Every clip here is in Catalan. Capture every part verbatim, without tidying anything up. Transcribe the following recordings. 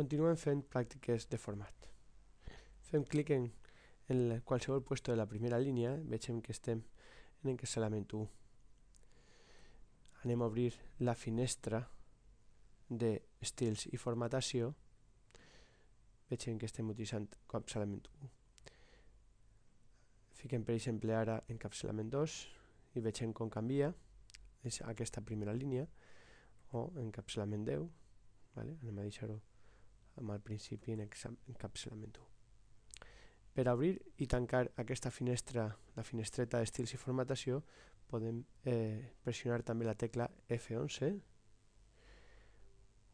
Continuem fent pràctiques de format. Fem clic en, en qualsevol puesto de la primera línia, veiem que estem en encapçalament u. Anem a obrir la finestra d'estils i formatació. Veiem que estem utilitzant encapçalament u. Fiquem, per exemple, ara encapçalament dos i veiem com canvia és aquesta primera línia, o encapçalament deu. Vale? Anem a deixar-ho amb el principi en encapçalament u. Per obrir i tancar aquesta finestra, la finestreta d'estils i formatació, podem eh, pressionar també la tecla F onze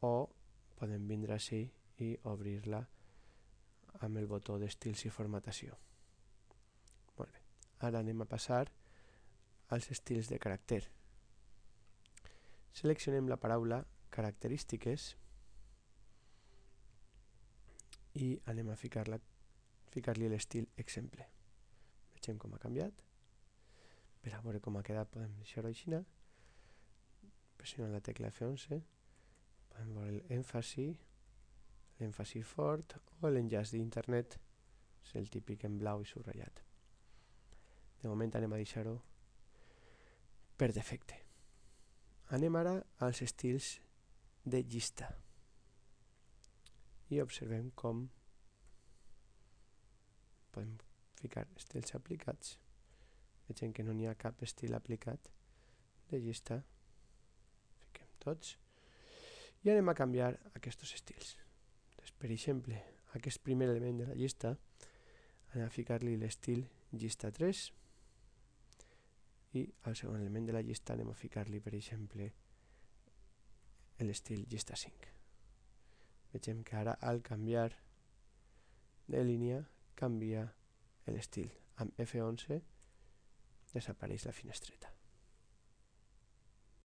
o podem vindre així i obrir-la amb el botó d'estils i formatació. Molt bé. Ara anem a passar als estils de caràcter. Seleccionem la paraula característiques i anem a ficar-la ficar-li l'estil exemple. Vegem com ha canviat. Per a veure com ha quedat podem deixar-ho així. Pressionant la tecla F onze podem veure l'èmfasi, l'èmfasi fort o l'enllaç d'internet, és el típic en blau i subratllat. De moment anem a deixar-ho per defecte. Anem ara als estils de llista i observem com podem ficar estils aplicats. Veiem que no n'hi ha cap estil aplicat de llista. Fiquem tots i anem a canviar aquests estils. Doncs, per exemple, aquest primer element de la llista anem a ficar-li l'estil llista tres i al segon element de la llista anem a ficar-li, per exemple, l'estil llista cinc. Veiem que ara al canviar de línia canvia l'estil. Amb F onze desapareix la finestreta.